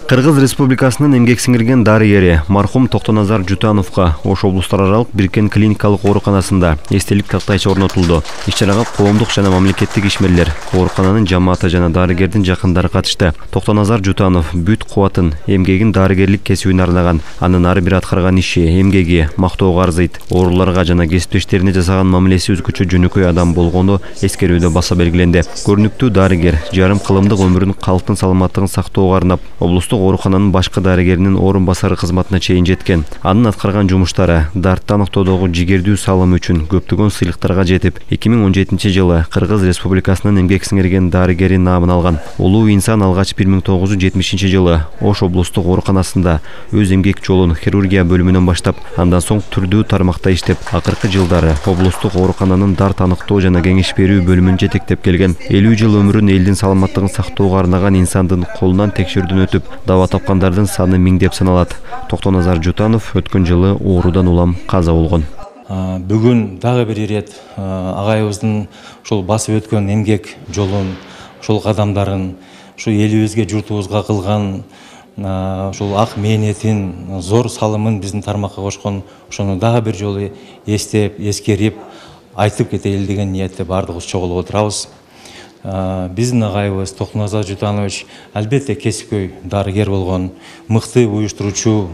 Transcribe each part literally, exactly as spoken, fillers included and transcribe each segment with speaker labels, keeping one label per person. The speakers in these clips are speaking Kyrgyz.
Speaker 1: Кыргыз Республикасынын эмгек сиңирген дарыгери мархум Токтоназар Жутановго Ош облустар аралык бириккен клиникалык ооруканасында эстелик тактайча орнотулду. Иш-чарага коомдук жана мамлекеттик ишмерлер, оорукананын жамааты жана дарыгердин жакындары катышты. Токтоназар Жутанов бүт кубатын, эмгегин дарыгерлик кесибине арнаган. Анын ар бир аткарган иши, эмгеги мактоого арзыйт. Ооруларга жана кесиптештерине жасаган мамилеси өзгөчө жөнөкөй адам болгону эскерүүдө баса белгиленди. Көрүнүктүү дарыгер жарым кылымдык өмүрүн калктын саламаттыгын сактоого арнап, облустук оорукананын башкы дарыгеринин орун басары кызматына чейин жеткен. Анын аткарган жумуштары дартты аныктоодогу жигердүү салымы үчүн көптөгөн сыйлыктарга жетип, эки миң он жетинчи жылы Кыргыз Республикасынын эмгек сиңирген дарыгери наамын алган. Улуу инсан алгач бир миң тогуз жүз жетимишинчи жылы Ош облустук ооруканасында өз эмгек жолун хирургия бөлүмүнөн баштап, андан соң түрдүү тармакта иштеп, акыркы жылдары облустук оорукананын дарт аныктоо жана кеңеш берүү бөлүмүн жетектеп келген. элүү жыл өмүрүн элдин саламаттыгын сактоого арнаган инсандын колунан текшерүүдөн өтүп, дава тапкандардын саны миңдеп саналат. Токтоназар Жутанов өткөн жылы оорудан улам каза болгон.
Speaker 2: Бүгүн дагы бир ирет агайыбыздын ушул басып өткөн эмгек жолун, ушул кадамдарын, ушу элибизге, журтубузга кылган ушул ак мээнетин, зор салымын биздин тармакка кошкон, ошону дагы бир жолу эстеп, эскерип, айтып кетели деген ниетте баардыгыбыз чогулуп отурабыз. Биздин агайыбыз Токтоназар Жутанович албетте кесипкөй дарыгер болгон, мыкты уюштуруучу,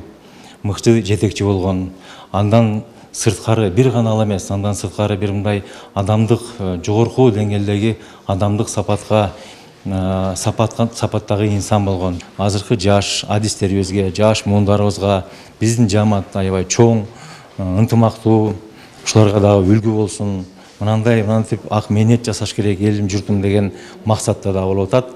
Speaker 2: мыкты жетекчи болгон. Андан сырткары бир гана ал эмес, андан сырткары бир мындай адамдык, жогорку деңгээлдеги адамдык сапатка сапаттагы инсан болгон. Азыркы жаш адистерибизге, жаш муундарыбызга биздин жамаат аябай чоң, ынтымактуу, ушуларга дагы үлгү болсун. Мынандай мынантип ак мээнет жасаш керек элим журтум деген максатта да болуп атат.